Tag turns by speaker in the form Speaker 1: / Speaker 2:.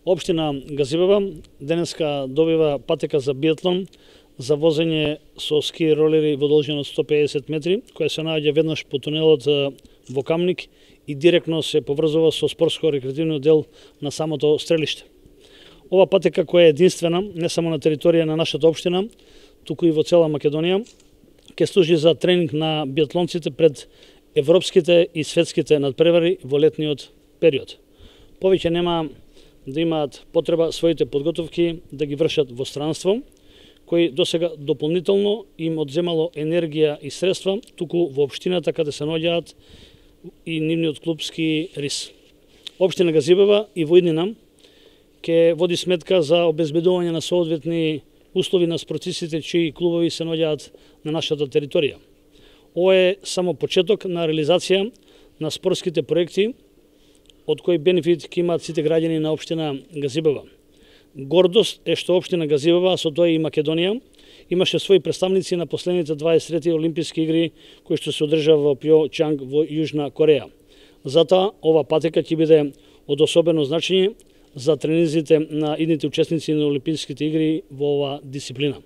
Speaker 1: Општина Газибева денеска добива патека за биатлон за возење со ски ролери во должина од 150 метри, која се наоѓа веднаш по тунелот во Камник и директно се поврзува со спортско-рекреативниот дел на самото стрелиште. Ова патека која е единствена не само на територија на нашата општина, туку и во цела Македонија, ќе служи за тренинг на биатлонците пред европските и светските надпревари во летниот период. Повеќе нема да имаат потреба своите подготовки да ги вршат во странство, кои досега дополнително им одземало енергија и средства, туку во општината каде се наоѓаат и нивниот клубски рис. Општина Газибева и во иднина ќе води сметка за обезбедување на соодветни услови на спортистите чии клубови се наоѓаат на нашата територија. Ова е само почеток на реализација на спортските проекти од кој бенефит ќе имаат сите граѓани на општина Газибева. Гордост е што општина Газибева, со тоа и Македонија, имаше своји представници на последните 23 олимписки игри кои што се одржаа во Пјончанг во Јужна Кореја. Затоа ова патека ќе биде од особено значење за тренизите на идните учесници на олимписките игри во ова дисциплина.